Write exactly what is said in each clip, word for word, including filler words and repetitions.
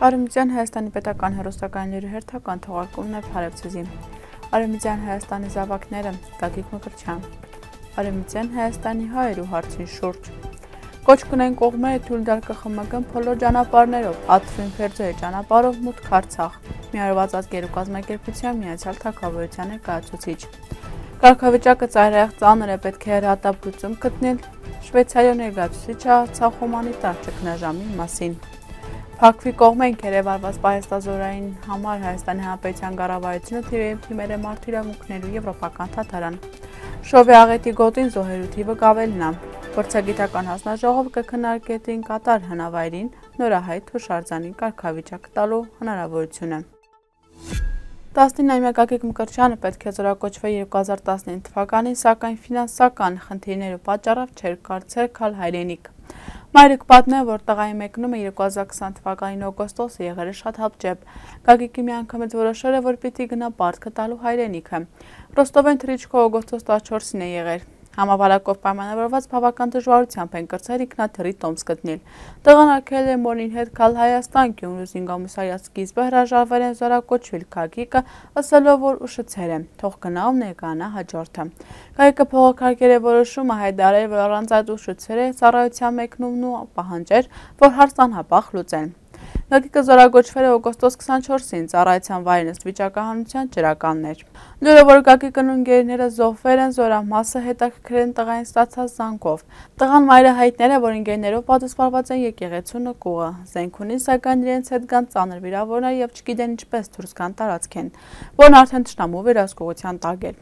Արևմտյան Հայաստանի պետական հեռուստակայանների հերթական թողարկումն է Փարեվցեզի։ Արևմտյան Հայաստանի զավակները Գագիկ Մկրտչյան։ Արևմտյան Հայաստանի հայերու հարցին շուրջ։ Կոչ կնեն կողմերը թույլ տալ ԿԽՄԳ-ն բոլոր ճանապարհներով, Աթրին Ֆերձոյի ճանապարհով մուտք Արցախ։ Միավորված ազգերու կազմակերպության Միացյալ Թագավորության ներկայացուցիչ։ Կարգավիճակը ծայրահեղ ծանր է, պետք է հրատապլուծում գտնել Շվեյցարիա ներկայացուցիչը Արցախ հումանիտար ճգնաժամի մասին։ Փակվի կողմենք երևարված պահեստազորային համար Հայաստանի Հանրապետության կառավարությունը թիրախ թիմեր է մարդու իրավունքներու եվրոպական թաթարան։ Շովի աղետի գոտին զոհերու թիվը կավելն է։ Փորձագիտական հանձնաժողովը կքննարկի Կատար հնավայրին նորահայտ հուշարձանի կարգավիճակ տալու հնարավորությունը։ տասնինամյա Գագիկ Մկրտչյանը պետք է զորակոչվի երկու հազար տասնինը թվականին, սակայն ֆինանսական խնդիրներու պատճառով չէր կարծել գալ հայրենիք։ Մայրը կպատմի, որ տղայի մեկնումը երկու հազար քսան թվականին օգոստոսը եղել է շատ հապճեպ։ Գագիկի մի անգամից որոշել է, որ պիտի գնա պարտքը տալու հայրենիքը։ Ռոստովեն թռիչքը օգոստոս տասնչորսին է եղել։ Համավարակով պայմանավորված բավական դժվարությամբ են կրծել ինքնաթռի տոմս գտնել։ Տղան արգելել է մորին հետ գալ Հայաստան, Գյումրու զինգոմիսարիա սկիզբը հրաժարվել են զորակոչվել Գագիկը, ասելով, որ ուշացել է, թող գնա ու ներկայանա հաջորդը։ Գագիկը փողոքարկել է որոշումը, հայտարարել, որ առանց այդ ուշացել է ծառայության մեկնումն ու պահանջել, որ հարցն անհապաղ լուծեն։ Գագիկը զորակոչվել է օգոստոս քսանչորսին, ծառայության վայրն ըստ վիճակահանության ջրականներ։ Լուրը, որ Գագիկն ու ընկերները զոհվել են, զորամասը հետաքրքրել են տղային ստացած զանգով։ Տղան մայրը հայտնել է, որ ընկերներով պատասխանված են եկեղեցու նկուղը։ Զենք ունի, սակայն իրենց հետ կան ծանր վիրավորներ եւ չգիտեն ինչպես դուրս գան տարածքեն, որն արդեն թշնամու վերահսկողության տակ է։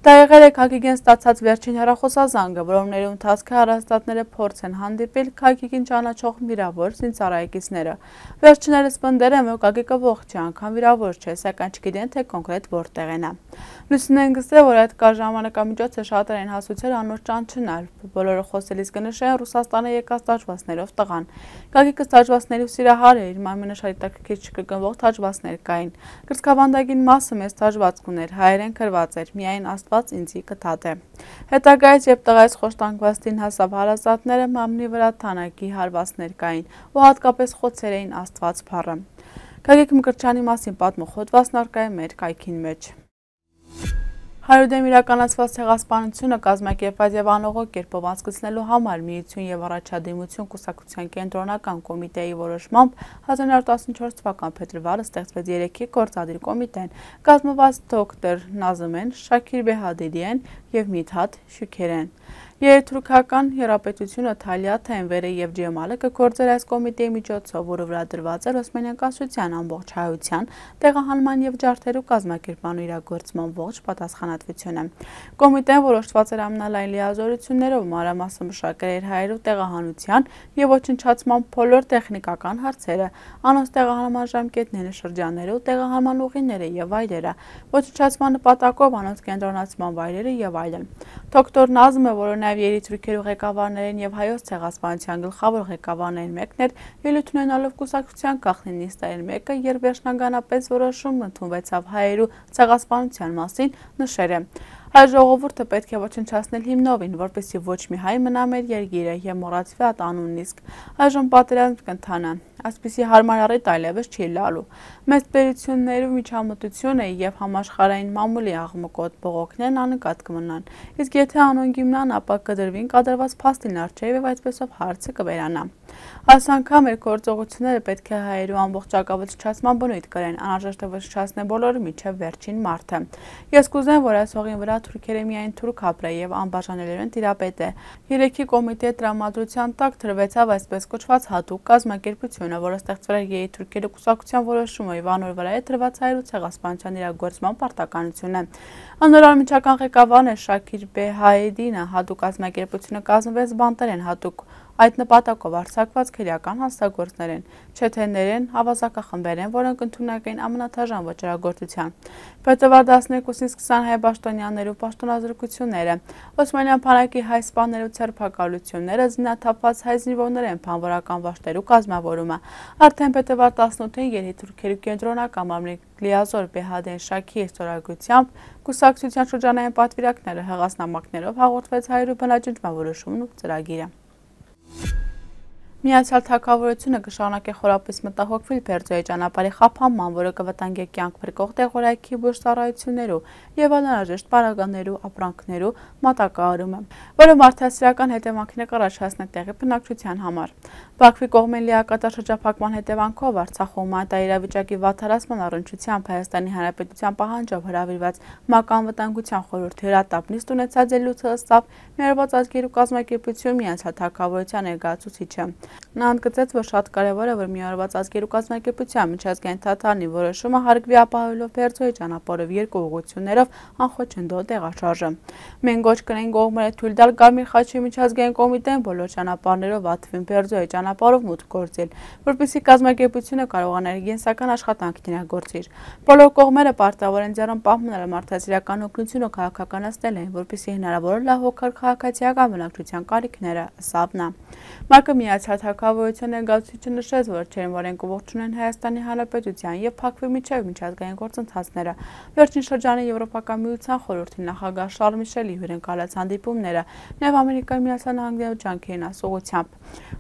Դա եղել է Գագիկին ստացած վերջին հեռախոսազանգը, որոնց ընթացքը առաստատները փորձ են հանդիպել Գագիկին ճանաչող վիրավոր զինծառայեկիցները։ Վերջիններս պնդել են, որ Գագիկը ողջ է, անգամ վիրավոր չէ, սակայն չգիտեն, թե կոնկրետ որտեղ են։ Լուսինեն գսել, որ այդ կար ժամանակամիջոցը շատեր են հասուցել անոր ճանչնալ։ Բոլորը խոսելիս կնշեն Ռուսաստանը եկած տաճվածներով տղան։ Գագիկը տաճվածներու սիրահար էր, իր մայմունը շատ հետաքրքիր չկրկնվող տաճվածներ կային։ Կրծքավանդակին մասը մեծ տաճվածք ուներ, հայերեն գրված էր, միայն Աստված ինձի կթաթ է։ Հետագայից, երբ տղայից խոշտանգվածին հասավ հարազատները, մամնի վրա թանակի հարվածներ կային ու հատկապես խոցեր էին Աստված փառը։ Գագիկ Մկրտչյանի մասին պատմող հոդվածն առկա է մեր կայքին մեջ։ Հայրուդեմ իրականացված ցեղասպանությունը կազմակերպված եւ անողոք կերպով անցկացնելու համար Միություն եւ առաջադիմություն կուսակցության կենտրոնական կոմիտեի որոշմամբ հազար նորը տասնչորս թվական փետրվարը ստեղծվեց երեքի գործադիր կոմիտեն, կազմված դոկտոր Նազմեն Շաքիր Բեհադիդիեն եւ Միթաթ Շուքերեն։ Երթուրքական հեռապետությունը Թալիաթ Էնվերը եւ Ջեմալը կգործեր այս կոմիտեի միջոցով, որը վրա դրված էր Օսմանյան կայսրության ամբողջ հայության, տեղահանման եւ ջարդերու կազմակերպման ու իրագործման ողջ պատասխանատվությունը։ Կոմիտեն որոշված էր ամենալայն լիազորություններով մանրամասը մշակել էր հայերու տեղահանության եւ ոչնչացման բոլոր տեխնիկական հարցերը, անոնց տեղահանման ժամկետները, շրջանները ու տեղահանման ուղիները եւ այլերը, ոչնչացման նպատակով անոնց կենտրոնացման վայրերը եւ այլն։ Դոկտոր Նազմը, որը նաեւ երիտուրքերու ղեկավարներին եւ հայոց ցեղասպանության գլխավոր ղեկավարներին մեկն էր, ելույթ ունենալով կուսակցության գաղտնի նիստերին մեկը, երբ վերջնականապես որոշում ընդունվեցավ հայերու ցեղասպանության մասին, նշել է. Հայ ժողովուրդը պետք է ոչնչացնել հիմնովին, որպեսզի ոչ մի հայ մնա մեր երկիրը եւ մոռացվի այդ անունն իսկ։ Այժմ պատերազմ կընթանա։ Այսպիսի հարմար առիթ այլևս չի լալու։ Մեծ պետություններու միջամտությունը եւ համաշխարհային մամուլի աղմկոտ բողոքներն աննկատ կմնան։ Իսկ եթե անոնք իմնան, ապա կդրվին կադրված փաստին առջեւ եւ այսպեսով հարցը կվերանա։ Այս անգամ մեր գործողությունները պետք է հայերու ամբողջական չչացման բնույթ կրեն, անհրաժեշտ է ոչնչացնել բոլորը մինչև վերջին մարդը։ Ես կուզեմ, որ այս հողին վրա թուրքերը միայն թուրք ապրե եւ անբաժանելիորեն տիրապետե։ Երեքի կոմիտեի տրամադրության տակ դրվեցավ այսպես կոչված հատուկ կազմակերպությունը, որը ստեղծվել է երիտուրքերի կուսակցության որոշումը եւ անոր վրա է դրված հայերու ցեղասպանության իրագործման պարտականությունը։ Անորամիջական ղեկավարն է Շաքիր Բեհադիդինը, հատուկ կազմակերպությունը կազմվեց բանտերեն հատուկ այդ նպատակով արձակված քրեական հանցագործներ են, չեթեներ են, ավազակախմբեր են, որոնք ընդունակ են ամենաթաժան վճռագործության։ Փետրվար տասներկուսին սկսան հայ պաշտոնյաներու պաշտոնազրկությունները, Օսմանյան բանակի հայ սպաներու ցերպակալությունները, զինաթափված հայ զինվորներ են բանվորական վաշտերու կազմավորումը։ Արդեն փետրվար տասնութին երիտուրքերու կենտրոնական մամլի լիազոր Բեհադեն Շաքիրի ստորագրությամբ կուսակցության շրջանային պատվիրակները հեղաշնամակներով հաղորդվեց հայերու բնաջնջման որոշումն ու ծրագիրը։ Միացյալ Թագավորությունը կշարունակի խորապես մտահոգվել Բերձորի ճանապարհի խափանման, որը կվտանգի կյանք փրկող տեղորայքի բուժծառայություններու եւ անհրաժեշտ պարագաներու ապրանքներու մատակարարումը, որը մարդասիրական հետևանքներ կառաջ հասնի տեղի բնակչության համար։ Բաքվի կողմեն լիակատար շրջափակման հետևանքով Արցախում հումանիտար իրավիճակի վատթարացման առնչությամբ Հայաստանի Հանրապետության պահանջով հրավիրված ՄԱԿ Անվտանգության խորհրդի հրատապ նիստ ունեցած ելույթը ըստ Միավորված ազգերու կազմակերպություն Միացյալ Թագավորության ներկայացուցիչը։ Նա ընդգծեց, որ շատ կարևոր է, որ Միավորված ազգերու կազմակերպության միջազգային թատրոնի որոշումը հարգվի ապահովելով Բերձորի ճանապարհով երկու ուղղություններով անխոչնդոտ տեղաշարժը։ Մենք գոչ կնենք կողմերը թույլ տալ Կարմիր խաչի միջազգային կոմիտեն բոլոր ճանապարհներով Ատվին Բերձորի ճանապարհով մուտք գործել, որպեսզի կազմակերպությունը կարողանա կենսական աշխատանքներ գործել։ Բոլոր կողմերը պարտավոր են ձեռն պահպանել մարդասիրական օգնությունը քաղաքականացնել են, որպեսզի հնարավոր լավ հոգալ քաղաքացիական բնակչության կարիքները, ըստ նա։ ՄԱԿ-ը Միացյալ Թագավորության ներկայացուցիչը նշեց, որ չերեն ողջունեն Հայաստանի Հանրապետության եւ Բաքվի միջև միջազգային գործընթացները, վերջին շրջանի Եվրոպական միության խորհրդի նախագահ Շարլ Միշելի հյուրընկալած հանդիպումները, նաեւ Ամերիկայի Միացյալ Նահանգների ջանքերին ասողությամբ։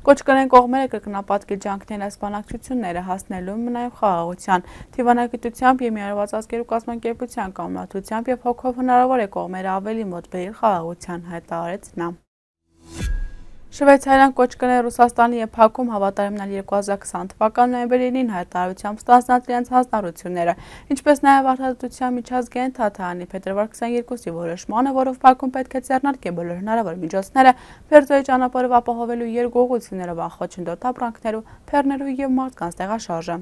Կոչ կնեն կողմերը կրկնապատկել ջանքներն այս բանակցությունները հասնելու նաեւ խաղաղության, դիվանագիտությամբ եւ Միավորված ազգերու կազմակերպության կամլաթությամբ եւ հոգով հնարավոր է կողմերը ավելի մոտ բերել խաղաղության, հայտարարեց նա։ Շվեյցարիան կոչ կներ Ռուսաստանի եւ Բաքվում հավատարիմնալ երկու հազար քսան թվականի նոյեմբերին հայտարարությամբ ստանձնած իրենց հանձնառությունները, ինչպես նաեւ Արդարադատության միջազգային թատրոնի փետրվար քսաներկուսի որոշմանը, որով Բաքուն պետք է ձեռնարկի բոլոր հնարավոր միջոցները Բերձորի ճանապարհով ապահովելու երկու ուղղություններով անխոչնդոտ ապրանքներու, բեռներու եւ մարդկանց տեղաշարժը։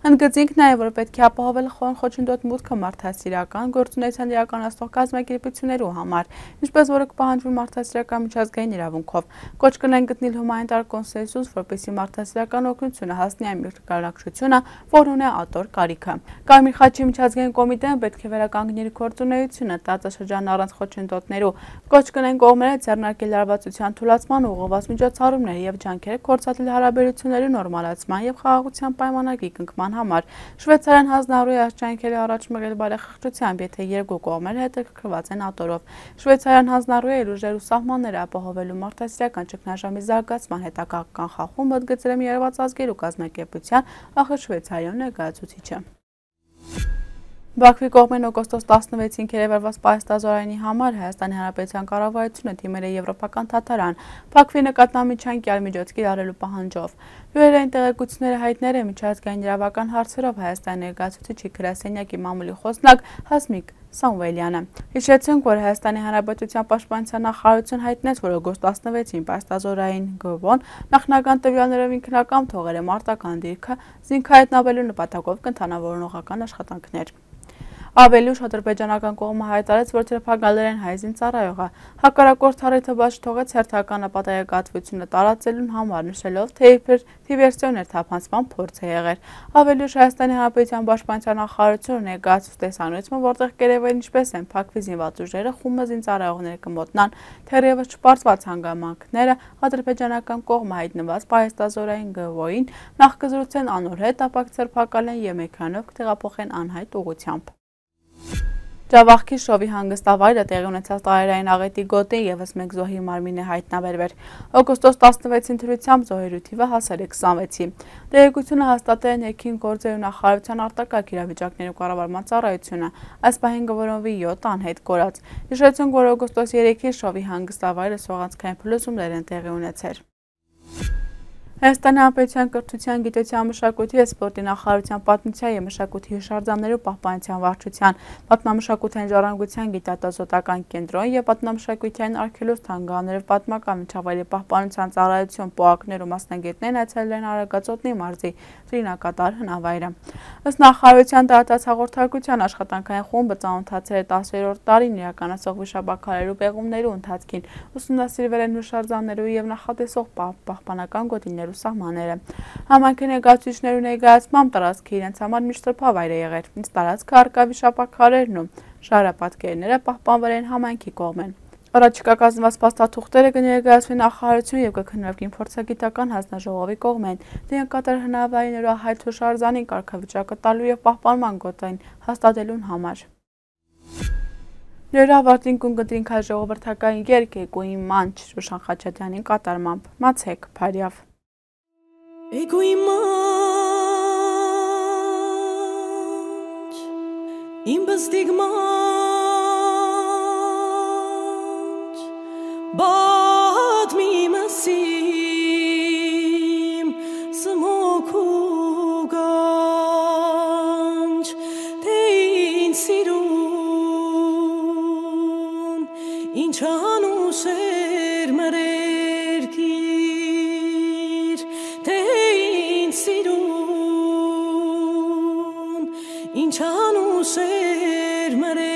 Ընդգծենք նաև, որ պետք է ապահովել խոչընդոտ մուտքը մարդասիրական գործունեության իրականացնող կազմակերպություններու համար, ինչպես որը կպահանջվի մարդասիրական միջազգային իրավունքով։ Կոչ կնեն գտնել հումանիտար կոնսենսուս, որպեսզի մարդասիրական օգնությունը հասնի այն մեկնարկությունը, որն ունի ատոր կարիքը։ Կարմիր խաչի միջազգային կոմիտեն պետք է վերականգնի գործունեությունը տարածաշրջանն առանց խոչընդոտներու։ Կոչ կնեն կողմերը ձեռնարկել լարվածության թուլացման ուղղված միջոցառումներ եւ ջանքեր գործադրել հարաբերությունների նորմալացման եւ խաղաղության պայմանագրի կնքման համար։ Շվեյցարիան հանձնառու է աջակցել առաջ մղել բարեխղճությամբ, եթե երկու կողմերը հետաքրքրված են ատորով։ Շվեյցարիան հանձնառու է իր ուժերու սահմանները ապահովելու մարդասիրական ճգնաժամի զարգացման հետագա կանխախումբ, ընդգծել է Միավորված ազգերու կազմակերպության ԱԽ Շվեյցարիան ներկայացուցիչը։ Բաքվի կողմեն օգոստոս տասնվեցին քերեվարված պահեստազորայնի համար Հայաստանի Հանրապետության կառավարությունը դիմել է Եվրոպական թատրոն Բաքվի նկատմամբ միջանկյալ միջոց կիրառելու պահանջով։ Լուրերային տեղեկությունները հայտնել է միջազգային իրավական հարցերով Հայաստանի ներկայացուցիչի գրասենյակի մամուլի խոսնակ Հասմիկ Սամվելյանը։ Հիշեցնենք, որ Հայաստանի Հանրապետության պաշտպանության նախարարությունը հայտնեց, որ օգոստոս տասնվեցին պահեստազորային գ.վ.-ն նախնական տվյալներով ինքնական թողել է մարտական դիրքը զինքահայտնաբերելու նպատակով կընթանավորողական աշխատանքներ։ Ավելի ուշ ադրբեջանական կողմը հայտարարեց, որ թիրախավորել հայ զինծառայողը հակառակորդ առիթը բաց թողեց հերթական ապատայակատվությունը տարածելուն համար, նշելով, թե իբր դիվերսիոներ թափանցման փորձ է եղել։ Ավելի ուշ Հայաստանի Հանրապետության պաշտպանության նախարարությունը ներկայացուց տեսանյութը, որտեղ կերևել ինչպես են Բաքվի զինված ուժերը խումբը զինծառայողները կմոտնան, թերևս չպարզված հանգամանքները ադրբեջանական կողմը հայտնված պահեստազորային գ.վ.-ին նախ կզրուցեն անոր հետ, ապա կձերբակալեն եւ մեքենայով կտեղափոխեն անհայտ ուղղությամբ։ Ջավախքի շովի հանգստավայրը տեղի ունեցած տարերային աղետի գոտին եւս մեկ զոհի մարմին է հայտնաբերվել։ Օգոստոս տասնվեցին թվությամբ զոհերու թիվը հասել է քսանվեցի։ Տեղեկությունը հաստատել է ներքին գործերու նախարարության արտակարգ իրավիճակներու կառավարման ծառայությունը։ Այս պահին գտնվի յոթ անհետ կորած։ Հիշեցնենք, որ օգոստոս երեքին շովի հանգստավայրը սողանցքային փլուզումներ են տեղի ունեցել։ Հայաստանի Հանրապետության կրթության, գիտության, մշակույթի և սպորտի նախարարության պատմության և մշակույթի հուշարձաններու պահպանության վարչության, պատմամշակութային ժառանգության գիտատեսոտական կենտրոն և պատմամշակութային արգելոց թանգարաններով պատմական միջավայրի պահպանության ծառայություն պոակներու մասնագետներն այցելել են Արագածոտնի մարզի Ծրինակատար հնավայրը։ Ըստ նախարարության տարածած հաղորդակցության աշխատանքային խումբը ծանոթացել է տասերորդ տարին իրականացող վիշապաքարերու պեղումներու ընթացքին, ուսումնասիրվել են հուշարձաններու և նախատեսող պահպանական գոտիներու սահմանները։ Համայնքի ներկայացուցիչներու ներկայացմամբ տարածքը իրենց համար միշտ սրբավայր է եղել, իսկ տարածքը առկա վիշապաքարերն ու ժայռապատկերները պահպանվել են համայնքի կողմեն։ Առաջիկա կազմված փաստաթուղթերը կներկայացվի նախարարություն եւ կքննվի փորձագիտական հանձնաժողովի կողմեն Ծրինակատար հնավայրներու հայտ հուշարձանին կարգավիճակը տալու եւ պահպանման գոտին հաստատելուն համար։ Լերա ավարտին կունկտրինք հայ ժողովրդական երգ Էգոյի մանչ Ռուշան Խաչատյանի կատարմամբ։ Մացեք Փարիավ։ Ego imanç Imbas digmanç Bad mi masim Samoku ganç Tein sirun Inchanu ser marerkir Tein sirun Inchanu ser marerkir